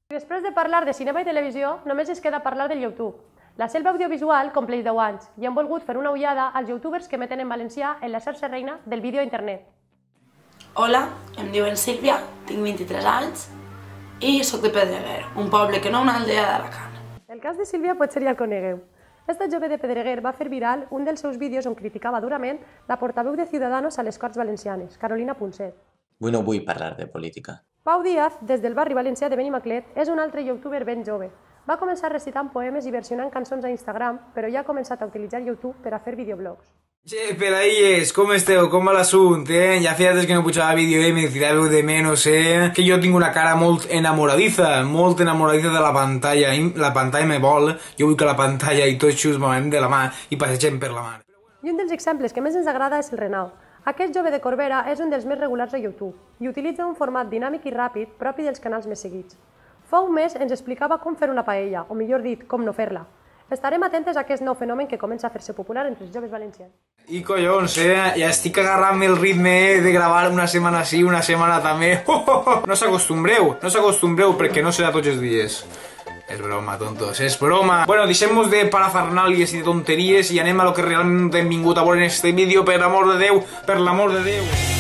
Després de parlar de cinema i televisió, només es queda parlar del YouTube. La selva audiovisual compleix 10 anys i hem volgut fer una ullada als youtubers que emeten en valencià en la xarxa reina del vídeo a internet. Hola, em diuen Sílvia, tinc 23 anys i soc de Pedreguer, un poble que no una aldea d'Alacant. El cas de Sílvia potser ja el conegueu. Esta jove de Pedreguer va fer viral un dels seus vídeos on criticava durament la portaveu de Ciudadanos a les Corts Valencianes, Carolina Punset. Avui no vull parlar de política. Pau Díaz, des del barri valencià de Benimaclet, és un altre youtuber ben jove. Va començar recitant poemes i versionant cançons a Instagram, però ja ha començat a utilitzar YouTube per a fer videoblogs. Che, peladilles, com esteu? Com va l'assumpte, Ja feia des que no pujava vídeo, me tiràveu de menys, Que jo tinc una cara molt enamoradiza de la pantalla. La pantalla me vol, jo vull que la pantalla i tots just movem de la mà i passegem per la mar. I un dels exemples que més ens agrada és el Renau. Aquest jove de Corbera és un dels més regulars a YouTube i utilitza un format dinàmic i ràpid propi dels canals més seguits. Fa un mes ens explicava com fer una paella, o millor dit, com no fer-la. Estarem atentes a aquest nou fenomen que comença a fer-se popular entre els joves valencians. I collons, ja estic agarrant el ritme de gravar una setmana sí, una setmana també. No s'acostumbreu perquè no serà tots els dies. És broma, tontos, és broma. Bueno, deixem-nos de parafernàlies i de tonteries i anem a lo que realment hem vingut a veure en este vídeo, per l'amor de Déu, per l'amor de Déu.